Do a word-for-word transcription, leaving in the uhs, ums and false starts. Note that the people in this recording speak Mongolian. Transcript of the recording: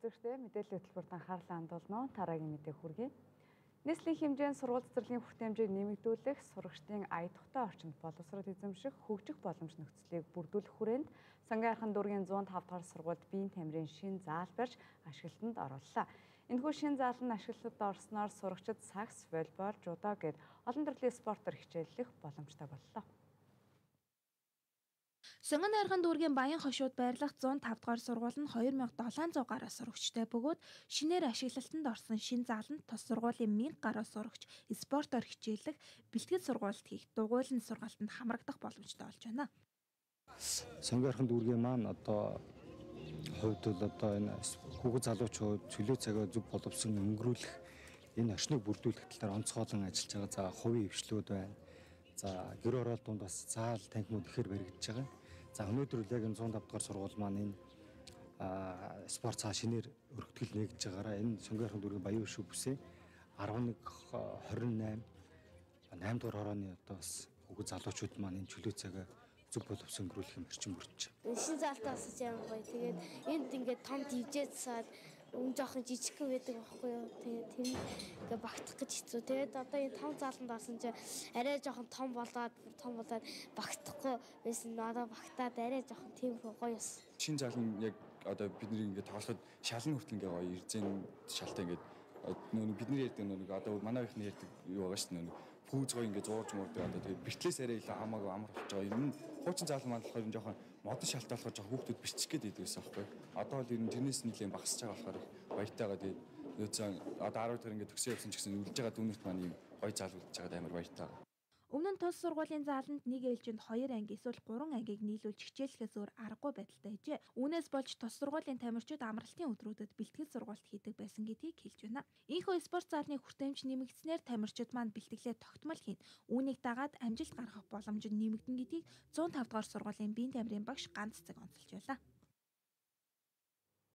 үзэгчдээ мэдээллийн хөтөлбөрт анхаарлаа хандуулно. Тараагийн мэдээ хүргэе. Нийслэлийн хэмжээнд сургууль цэцэрлэгийн хүртээмжийг нэмэгдүүлэх, сурагчдын ая тухтай орчинд боловсрол эзэмших, хөгжих боломж нөхцөлийг бүрдүүлэх хүрээнд Сонгон Архан дүүргийн зуун тавд дахь сургуульд биеийн тамирын шин заал барьж ашиглалтанд орууллаа. Энэхүү шин заал нь ашиглалтанд орсноор сурагчид сакс, волейбол, жудо гэд олон төрлийн спортоор хичээллэх боломжтой боллоо. Сонгон Архан дүүргийн Баян хошууд байрлах зуун тавд дахь сургууль нь хоёр мянга долоон зуун гаруй сурагчтай бөгөөд шинээр ашиглалтанд орсон шин зааланд тус сургуулийн мянга гаруй сурагч спортоор хичээллэх, бэлтгэл сургуульд хийх, дугуйлан сургаалтанд хамрагдах боломжтой болж байна. Сонгон Архан дүүргийн маань одоо хувьд бол одоо энэ хүүхэд залуучууд чөлөө цагаа зөв боловсон өнгөрүүлэх, энэ орчныг бүрдүүлэх талаар онцгойлон ажиллаж байгаа. За хувийн хвшлүүд байна. За гэр оролтонд бас заал танхимуд ихээр баригдаж байгаа. За өнөөдөр л яг энэ зуун тавд дахь сургууль маань энэ спорт цаа шинээр өргөтгөл нэгж байгаараа энэ Сонгон Архан дүүргийн Баян хошуу бүсээ арван нэг хорин найман найм дугаар хорооны одоо бас хүүхэд залуучууд маань энэ чөлөө цагаа зөв боловсон өнгөрүүлэх юм орчин бүрдэж байна. Шин заалтаа асууж байгаа гоё. Тэгээд энд ингээд том дивжээ засаад өн жоохон жижигхэн байдаг байхгүй юу. Тэгээд тэр ингээ багтах гэж хэцүү. Тэгээд одоо энэ том зааланд орсон чинь арай жоохон том болоод том болоод багтахгүй байсан. Одоо багтаад арай жоохон тийм гоё ус. Шин заал нь яг одоо бидний ингээ тоглоход шалан хүртэл ингээ гоё ирзэн шалтай ингээ нөө бидний ярьдаг нөө одоо манай ихний ярьдаг юу байгаа шүү дээ. Пүүз гоё ингээ зуурж муурдаг одоо тэгээд бэртлээс арай илүү хамаагүй амар болж байгаа. Ер нь хуучин заал маань болохоор энэ жоохон модон шалтай болохоор жоохон хүүхдүүд биччих гээд байдаг гэсэн байхгүй. Одоо бол ер нь тэрнээс нэлийн багасч байгаа болохоор баяртайгаа тэгээд нөөцөн одоо арав дахь ингээ төгсөө явсан ч гэсэн үлдэж байгаа дүүнерт маань ийм гоё заал үлдэж байгаа амар баяртай. Өмнө нь тус сургуулийн зааланд нэг ээлжинд хоёр анги эсвэл гурван ангийг нийлүүлж хичээллэхээс өөр аргагүй байдалтай ажээ. Үүнээс болж тус сургуулийн тамирчид амралтын өдрүүдэд бэлтгэл сургалт хийдэг байсан гэдгийг хэлж байна. Ийхүү спорт заалны хүртээмж нэмэгдснээр тамирчид маань бэлтгэлээ тогтмол хийн. Үүнийг дагаад амжилт гаргах боломж нь нэмэгдэн гэдгийг зуун тавд дахь сургуулийн биеийн тамирын багш ганц цаг онцолж байлаа.